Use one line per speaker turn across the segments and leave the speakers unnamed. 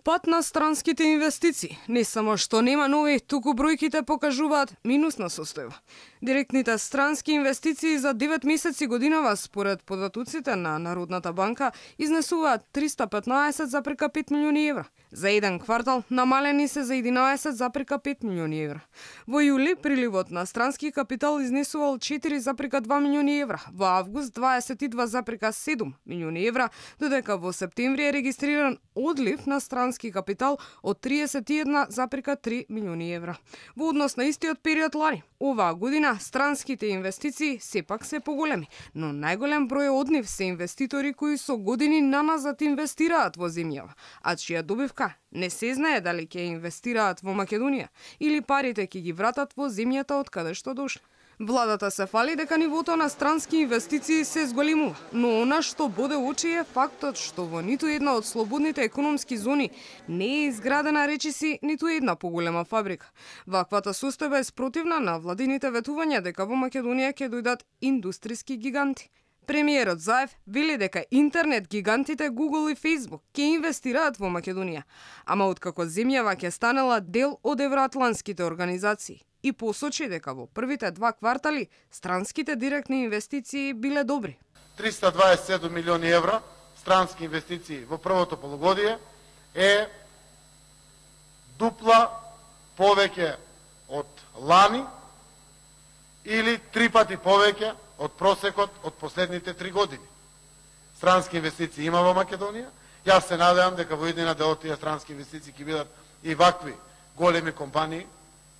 Пат на странските инвестиции. Не само што нема нови, туку бројките покажуваат минусна состојба. Директните странски инвестиции за 9 месеци годинава, според податоците на Народната банка, изнесуваат 315,5 милиони евра. За еден квартал намалени се за 11,5 милиони евра. Во јули приливот на странски капитал изнесувал 4,2 милиони евра, во август 22,7 милиони евра, додека во септември е регистриран одлив на странски капитал од 31,3 милиони евра. Во однос на истиот период лани, оваа година странските инвестиции сепак се поголеми, но најголем број однив се инвеститори кои со години наназад инвестираат во земјава, а чија добивка не се знае дали ќе инвестираат во Македонија или парите ќе ги вратат во земјата од каде што дошли. Владата се фали дека нивото на странски инвестиции се зголемува, но она што боде очи е фактот што во ниту една од слободните економски зони не е изградена речиси ниту една поголема фабрика. Ваквата состојба е спротивна на владините ветувања дека во Македонија ќе дојдат индустријски гиганти. Премиерот Заев вели дека интернет гигантите Google и Facebook ќе инвестираат во Македонија, ама откако земјава ќе станела дел од евроатлантските организации, и посочи дека во првите 2 квартали странските директни инвестиции биле добри.
327 милиони евра странски инвестиции во првото полугодие е дупла повеќе од лани или 3 пати повеќе од просекот од последните 3 години. Странски инвестиции има во Македонија. Јас се надевам дека во иднина дел од тие странски инвестиции ќе бидат и вакви големи компании,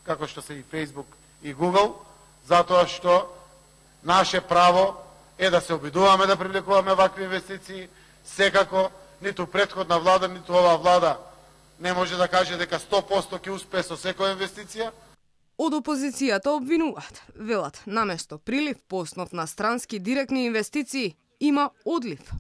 како што се и Facebook и Google, затоа што наше право е да се обидуваме да привлекуваме вакви инвестиции. Секако, ниту претходна влада, ниту оваа влада не може да каже дека 100% ќе успее со секоја инвестиција.
Од опозицијата обвинуваат, велат, наместо прилив по основ на странски директни инвестиции, има одлив.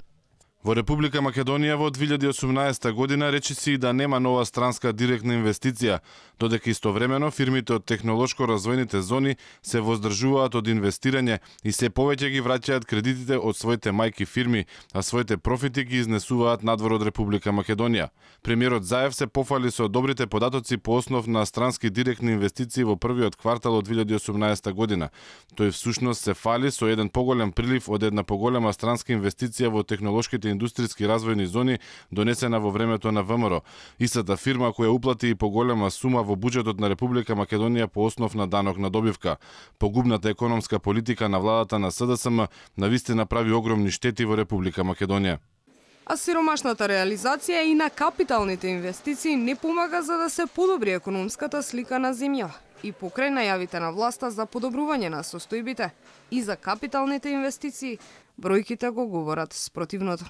Во Република Македонија во 2018 година речиси да нема нова странска директна инвестиција, додека истовремено фирмите од технолошко-развојните зони се воздржуваат од инвестирање и се повеќе ги враќаат кредитите од своите мајки фирми, а своите профити ги изнесуваат надвор од Република Македонија. Премиерот Заев се пофали со добрите податоци по основ на странски директни инвестиции во првиот квартал од 2018 година. Тој всушност се фали со еден поголем прилив од една поголема странска инвестиција во технолошките индустријски развојни зони донесена во времето на ВМРО. Истата фирма која уплати и поголема сума во буџетот на Република Македонија по основ на данок на добивка. Погубната економска политика на владата на СДСМ навистина прави огромни штети во Република Македонија.
А сиромашната реализација и на капиталните инвестиции не помага за да се подобри економската слика на земјава. И покрај најавите на власта за подобрување на состојбите и за капиталните инвестиции, бројките го говорат спротивното.